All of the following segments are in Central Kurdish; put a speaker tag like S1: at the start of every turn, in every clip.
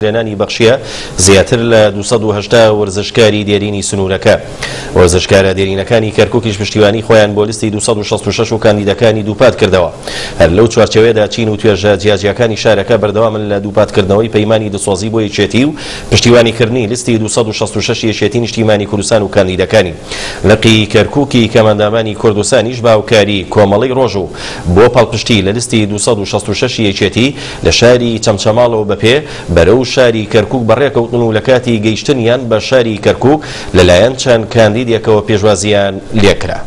S1: لێنانی بەخشیە زیاتر لە 280 وەرزشکاری دێرینی سنوورەکە. وەرزشکارە دێرینەکانی کەرکووکیش پشتیوانی خۆیان بۆ لیستی 266 و کاندیدەکانی دووپات کردەوە. هەر لەو چوارچێوەیەدا چین و توێژە جیاجیاکانی شارەکە بەردەوامن لە دووپاتکردنەوەی پەیمانی دڵسۆزی بۆ یەکێتی و پشتیوانیکردنی لیستی 266 یەکێتی نیشتیمانی کوردستان و کاندیدەکانی. لقی کەرکووکی کەمئەندامانی کوردستانیش بە هاوکاری کۆمەڵەی ڕۆژ و بۆ پاڵپشتی لە لیستی 266 یەکێتی لە شاری چەمچەماڵەوە بە پێ بەرەو شاری کەرکووک بەڕێکەوتن و لە کاتی گەیشتنیان بە شاری کەرکووک لەلایەن چەند کاندیدێکەوە پێشوازییان لێکرا.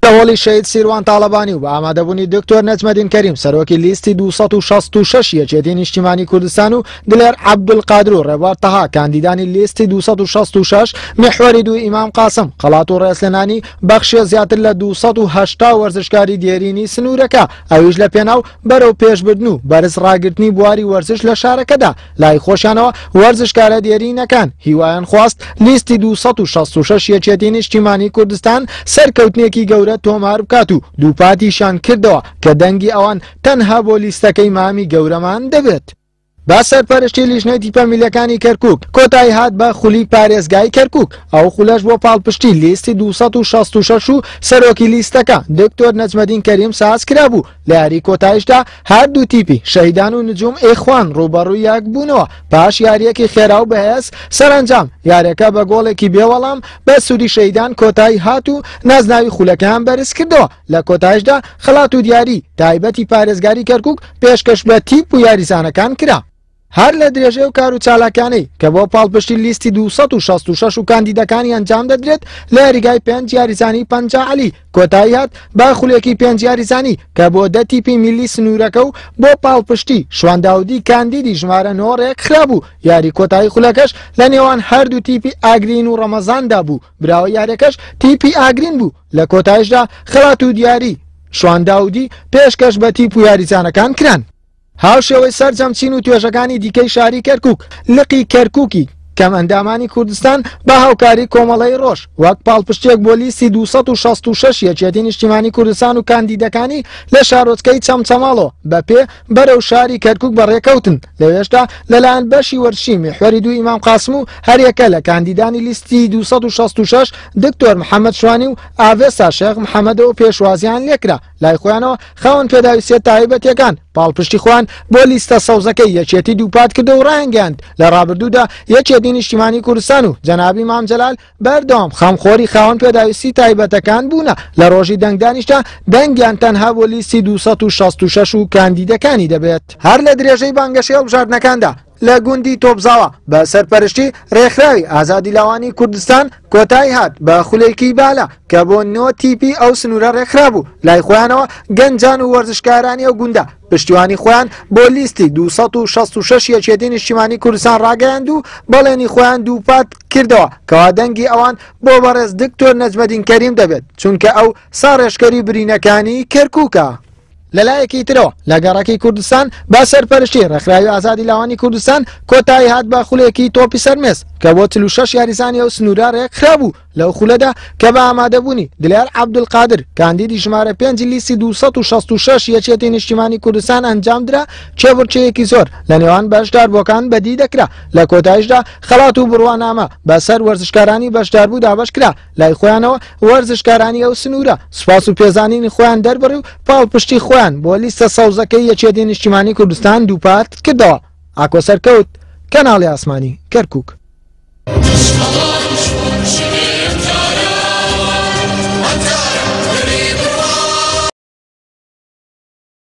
S2: لە هۆڵی شەهید سیروان تاڵەبانی و بە ئامادەبوونی دکتۆر نەجمەدین کەریم سەرۆکی لیستی 266 یەکێتی نیشتیمانی کوردستان و دلێر عەبدولقادر و ڕێبوار تەها کاندیدانی لیستی 266 میحوەری دوو ئیمام قاسم خەڵات و ڕێزلێنانی بەخشیە زیاتر لە 280 وەرزشکاری دێرینی سنوورەکە ئەویش لە پێناو بەرەو پێشبردن و بەرز ڕاگرتنی بواری وەرزش لە شارەکەدا. لای خۆشیانەوە وەرزشکارە دێرینەکان هیوایان خواست لیستی 266 یەکێتی نیشتیمانی کوردستان سەرکەوتنێکی گەورە تۆمار بکات و دووپاتیشیان کردەوە کە دەنگی ئەوان تەنها بۆ لیستەکەی مامی گەورەمان دەبێت. بە سەرپەرشتی لیژنەی تیپە میلەکانی کەرکوک کۆتایی هات بە خولی پارێزگای کەرکوک، ئەو خولەش بۆ پاڵپشتی لیستی 266 و سەرۆکی لیستەکە دکتۆر نەجمەدین کەریم ساز کرابوو. لە یاری کۆتاییشدا هەردوو تیپی شەهیدان و نجوم ئیخوان ڕووبەڕووی یەک بوونەوە پاش یارییەکی خێرا و بەهێز. سەرەنجام یاریەکە بە گۆڵێکی بێوەڵام بە سوودی شەهیدان کۆتایی هات و نازناوی خولەکەیان بەرزکردەوە. لە کۆتاییشدا خەڵات و دیاری تایبەتی پارێزگاری کەرکوک پێشکەش بە تیپ و یاریزانەکان کرا. هەر لە درێژەی ئەو کار و چالاکیانەی کە بۆ پاڵپشتی لیستی 266 و کاندیدەکانی ئەنجام دەدرێت لە یاریگای پێنج یاریزانی پەنجا عەلی کۆتایی هات بە خولێکی پێنج یاریزانی کە بۆ دە تیپی میللی سنوورەکە و بۆ پاڵپشتی شوان داودی کاندیدی ژمارە نۆ ڕێکخرابوو. یاری کۆتایی خولەکەش لە نێوان هەردوو تیپی ئاگرین و ڕەمەزاندا بوو، براوەی یاریەکەش تیپی ئاگرین بوو. لە کۆتایشدا خەڵات و دیاری شوان داودی پێشکەش بە تیپ و یاریزانەکان کران. هاوشێوەی سەرجەم چین و توێژەکانی دیکەی شاری کەرکوک، لقی کەرکوکی کەمئەندامانی کوردستان بە هاوکاری کۆمەڵەی ڕۆژ وەک پاڵپشتیەک بۆ لیستی 266 یەکێتی نیشتیمانی کوردستان و کاندیدەکانی لە شارۆچکەی چەمچەماڵەوە بە پێ بەرەو شاری کەرکوک بەڕێکەوتن. لەوێشدا لەلایەن بەشی وەرزشی میحوەری دوو ئیمام قاسم و هەریەکە لە کاندیدانی لیستی 266 دکتۆر محەمەد شوانی و ئاڤێستا شێخ محەمەدەوە پێشوازیان لێکرا. لای خۆیانەوە خاوەن پێداویستیە تایبەتیەکان پاڵپشتی خۆیان بۆ لیستە سەوزەکەی یەکێتی دووپات کردەوە و ڕایانگەیاند لە ڕابردوودا یەکێتی نیشتیمانی کوردستان و جەنابی مام جەلال بەردەوام خەمخۆری خاوەن پێداویستی تایبەتەکان بوونە، لە ڕۆژی دەنگدانیشدا دەنگیان تەنها بۆ لیستی 266 و کاندیدەکانی دەبێت. هەر لە درێژەی بانگەشەی هەڵبژاردنەکاندا لە گوندی تۆپزاوا بە سەرپەرشتی ڕێکخراوی ئازادی لاوانی کوردستان کۆتایی هات بە خولێکی بالە کە بۆ نۆ تیپی ئەو سنوورە ڕێکخرابوو. لای خۆیانەوە گەنجان و وەرزشکارانی ئەو گوندە پشتیوانی خۆیان بۆ لیستی 266 یەکێتی نیشتیمانی کوردستان ڕاگەیاند و بەڵێنی خۆیان دووپات کردەوە کەوا دەنگی ئەوان بۆ بەڕێز دکتۆر نەجمەدین کەریم دەبێت، چونکە ئەو ساڕێژکەری برینەکانی کەرکووکە. لەلایەکی ترەوە لە گەڕەکی کوردستان بە سەرپەرشتی ڕێکخراوی ئازادی لاوانی کوردستان کۆتایی هات بە خولێکی تۆپی سەرمێز کە بۆ 46 یاریزانی ئەو سنوورە ڕێکخرابوو. لەو خولەدا کە بە ئامادەبوونی دلێر عەبدولقادر کاندیدی ژمارە پێنجی لیستی 266 یەکێتی نیشتیمانی کوردستان ئەنجامدرا، کێبڕکێیەکی زۆر لە نێوان بەشداربووەکان بەدی دەکرا. لە کۆتاییشدا خەڵات و بڕوانامە بەسەر وەرزشکارانی بەشداربوو دابەشکرا. لای خۆیانەوە وەرزشکارانی ئەو سنوورە سوپاس و پێزانینی خۆیان دەربڕی و پاڵپشتی خۆیان بۆ لیستە سەوزەکەی یەکێتی نیشتیمانی کوردستان دووپات کردەوە. ئاکۆ سەرکەوت، کەناڵی ئاسمانی، کەرکوک.